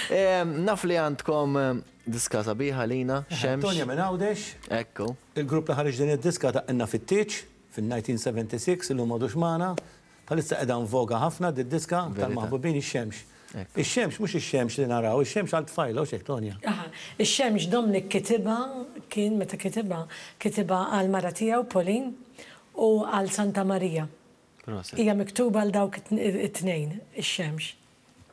Naf li għandkom diska sabiħa lina, Xemx. Tonja minn Għawdex. Ekku. Il-grupp li ħareġ din id-diska daqqilna fit-tieġ fin-1976, illum m'għadux magħna. Bħalissa qiegħda in voga ħafna did-diska tal-maħbubin ix-xemx. Ix-xemx mhux ix-xemx li naraw, ix-xemx għal tfajla, hux hekk Tonja? Aha. Ix-xemx Dominic kitibha, kien meta kitibha, kitibha għall-mara tiegħu Pauline u għal Santa Marija. Proset. Hija miktuba għal dawk it-tnejn, ix-xemx.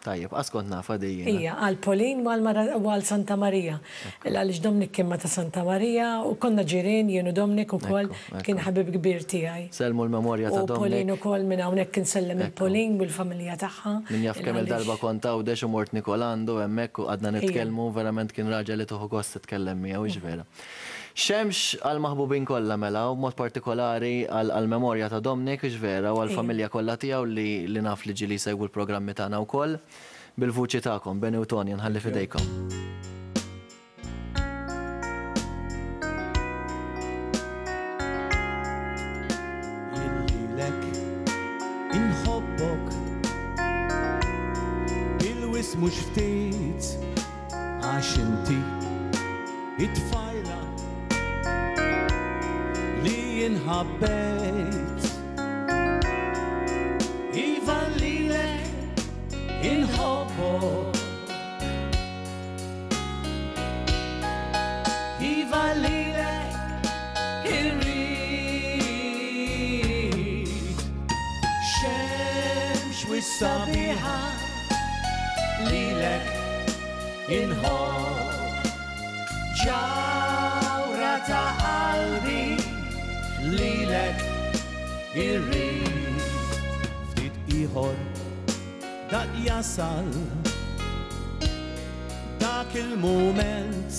Tajjeb, qas kont nafha di jiena. Hija, għal Pauline u għal mara u għal Santa Marija. Għaliex Dominic kien ma' ta' Santa Marija u konna ġirien jien u Dominic ukoll, kien ħabib kbir tiegħi. Sellmu l-memorja ta' Dominic. U Pauline ukoll minn hawnhekk insellem lil Pauline u l-familja tagħha. Min jaf kemm-il darba kont Għawdex u mort niekol għandu hemmhekk u qgħadna nitkellmu, verament kien raġel li tieħu gost titkellem miegħu, hux vera. Xemx għall-maħbubin kollha mela, u b'mod partikolari għall-memorja ta' Dominic, hux vera, u għall-familja kollha tiegħu li li naf li ġieli jsegwu l-programmi tagħna wkoll. Bil-vuċi tagħkom, Benny u Tonya, nħalli f'idejkom. Jien lilek inħobbok bil-wisq mhux ftit. Għax inti it-tfajla li jien ħabbejt. Iva lilek inħobbok. Iva lilek irrid. Xemx wis-sabiħa lilek Inħobb ġawhra ta' qalbi lilek irrid. Ftit ieħor dak jasal dak il-mument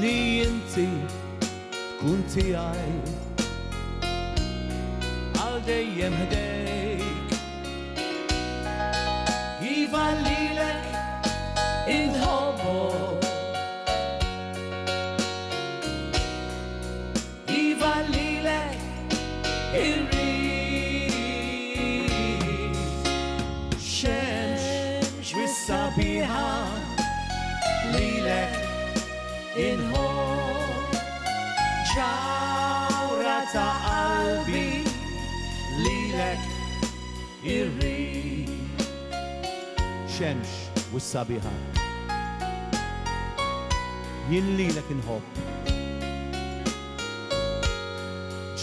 li inti tkun tiegħi għal dejjem ħdejk. Iva lilek inħobbok. Iva lilek irrid. Xemx wis-sabiħa lilek inħobb. Ġawhra ta' qalbi lilek Irrid. Xemx u s-sabiħa. Jien lilek inħobb.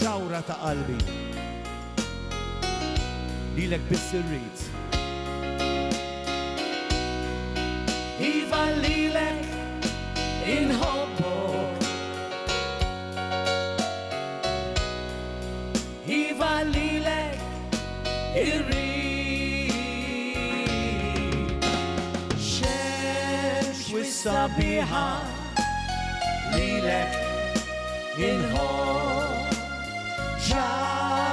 Ġawhra ta' qalbi. Lilek biss irrid. Iva lilek inħobbok. Iva lilek irrid. Xemx wis-sabiħa lilek inħobb. Ġawhra.